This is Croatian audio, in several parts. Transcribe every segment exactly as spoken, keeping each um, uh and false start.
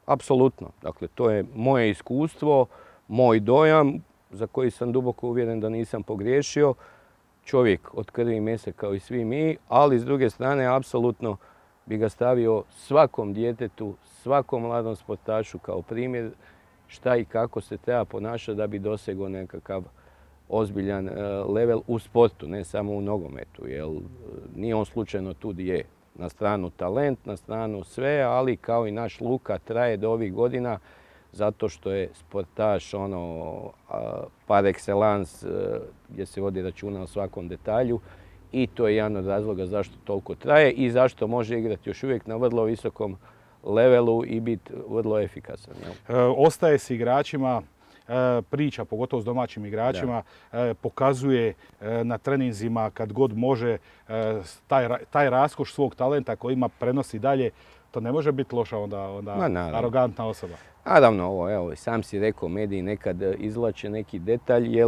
Apsolutno. Dakle, to je moje iskustvo, moj dojam za koji sam duboko uvjeren da nisam pogriješio. Čovjek od krvi i mesa kao i svi mi, ali s druge strane apsolutno bi ga stavio svakom djetetu, svakom mladom sportašu kao primjer šta i kako se treba ponašati da bi dosegao nekakav ozbiljan level u sportu, ne samo u nogometu. Jer nije on slučajno tu gdje je. Na stranu talent, na stranu sve, ali kao i naš Luka traje do ovih godina zato što je sportaš ono, par excellence gdje se vodi računa o svakom detalju i to je jedan od razloga zašto toliko traje i zašto može igrati još uvijek na vrlo visokom levelu i biti vrlo efikasan. E, ostaje s igračima priča, pogotovo s domaćim igračima, da. pokazuje na treninzima kad god može taj, taj raskoš svog talenta koji ima prenosi dalje. To ne može biti loša onda, onda arogantna osoba. Naravno, ovo, evo, sam si rekao, mediji nekad izvlače neki detalj, jer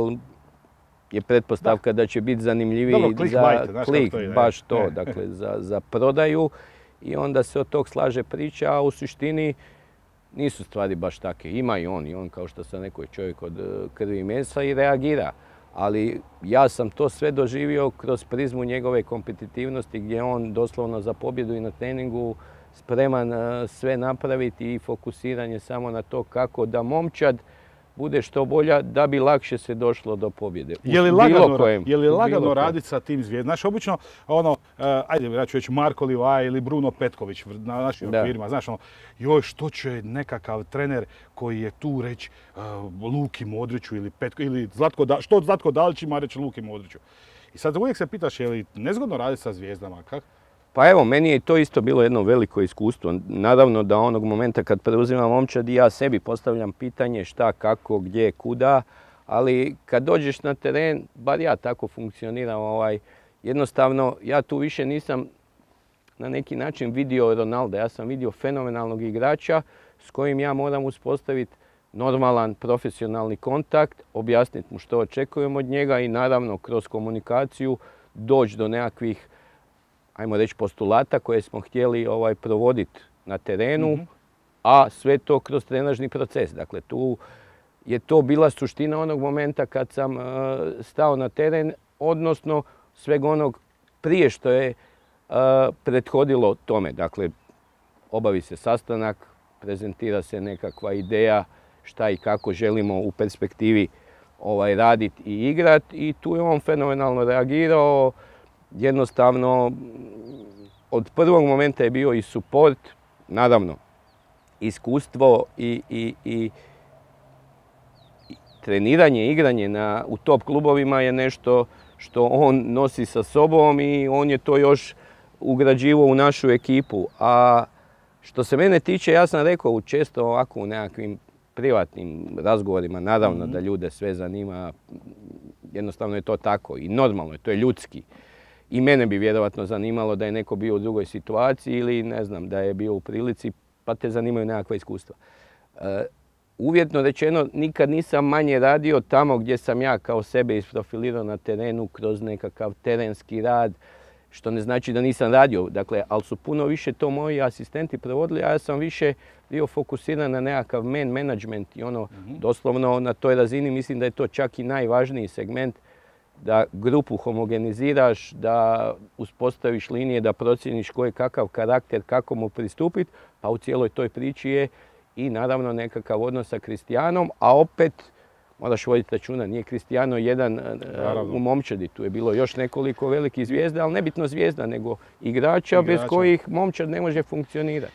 je pretpostavka da, da će biti zanimljiviji Dobro, za bajte, klik, to je, baš to, ne. dakle, za, za prodaju i onda se od tog slaže priča, a u suštini nisu stvari baš take. Ima i on, i on kao što sam rekao, čovjek od krvi i mesa i reagira. Ali ja sam to sve doživio kroz prizmu njegove kompetitivnosti gdje on doslovno za pobjedu i na treningu spreman sve napraviti i fokusiranje samo na to kako da momčad bude što bolja da bi lakše se došlo do pobjede. Je li lagano, kojem, je li lagano raditi sa tim zvijezdama? Znaš, obično, ono, uh, ajde, ja ću reći Marko Livaja ili Bruno Petković na našim okvirima, znaš, ono, joj, što će nekakav trener koji je tu reći uh, Luki Modriću ili Petko, ili Zlatko, da, što Zlatko Dalić ima reći Luki Modriću. I sad uvijek se pitaš, je li nezgodno raditi sa zvijezdama, kako? Pa evo, meni je to isto bilo jedno veliko iskustvo. Naravno da onog momenta kad preuzimam momčad i ja sebi postavljam pitanje šta, kako, gdje, kuda, ali kad dođeš na teren, bar ja tako funkcioniram, ovaj, jednostavno ja tu više nisam na neki način vidio Ronalda, ja sam vidio fenomenalnog igrača s kojim ja moram uspostaviti normalan profesionalni kontakt, objasniti mu što očekujem od njega i naravno kroz komunikaciju doći do nekakvih, ajmo reći, postulata koje smo htjeli ovaj, provoditi na terenu, mm-hmm. a sve to kroz trenažni proces. Dakle, tu je to bila suština onog momenta kad sam uh, stao na teren, odnosno sveg onog prije što je uh, prethodilo tome. Dakle, obavi se sastanak, prezentira se nekakva ideja šta i kako želimo u perspektivi ovaj, raditi i igrati i tu je on fenomenalno reagirao. Jednostavno, od prvog momenta je bio i suport, naravno, iskustvo i, i, i, i treniranje, igranje na, u top klubovima je nešto što on nosi sa sobom i on je to još ugrađivao u našu ekipu. A što se mene tiče, ja sam rekao često ovako u nekakvim privatnim razgovorima, naravno mm-hmm. da ljude sve zanima, jednostavno je to tako i normalno je, to je ljudski. I mene bi vjerovatno zanimalo da je neko bio u drugoj situaciji ili ne znam, da je bio u prilici pa te zanimaju nekakva iskustva. E, uvjetno rečeno, nikad nisam manje radio tamo gdje sam ja kao sebe isprofilirao na terenu kroz nekakav terenski rad, što ne znači da nisam radio, dakle, ali su puno više to moji asistenti provodili, a ja sam više bio fokusiran na nekakav man management i ono, mm-hmm. doslovno na toj razini mislim da je to čak i najvažniji segment da grupu homogeniziraš, da uspostaviš linije, da procijeniš koji je kakav karakter, kako mu pristupiti, pa u cijeloj toj priči je i naravno nekakav odnos sa Cristianom, a opet moraš voditi računa, nije Cristiano jedan naravno. U momčadi, tu je bilo još nekoliko velikih zvijezda, ali nebitno zvijezda, nego igrača, igrača bez kojih momčad ne može funkcionirati.